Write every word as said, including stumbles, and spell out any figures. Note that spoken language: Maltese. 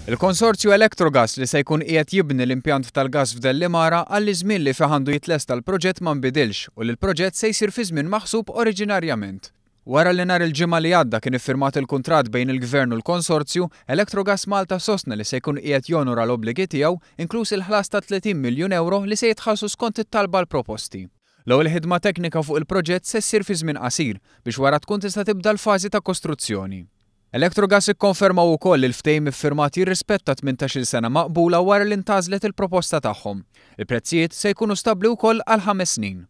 Il-konsorzju Electrogas li se jkun qiegħed jibni l-impjant tal-gas f'Dellimara qal li ż-żmien li fih għandu jitlesta l-proġett ma nbidilx u li l-proġett se jsir fi żmien maħsub oriġinarjament. Wara li nhar il-Ġimgħa li għadda kien iffirmat il-kuntratt bejn il-Gvern u l-konsorzju, Electrogas Malta sostna li se jkun qiegħed jonora l-obbligi tiegħu, inkluż il-ħlas ta' tletin miljun ewro li se jitħallsu skont it-talba għall-proposti. L-ewwel ħidma teknika fuq il-proġett se ssir fi żmien qasir biex wara tkun tista' tibda l-fażi ta' kostruzzjoni. Electrogas ikkonfermaw ukoll li l-ftehim iffirmat jirrispetta tmintax-il sena maqbula wara li ntgħażlet il-proposta tagħhom. Il-prezzijiet se jkunu stabbli wkoll għal ħames snin.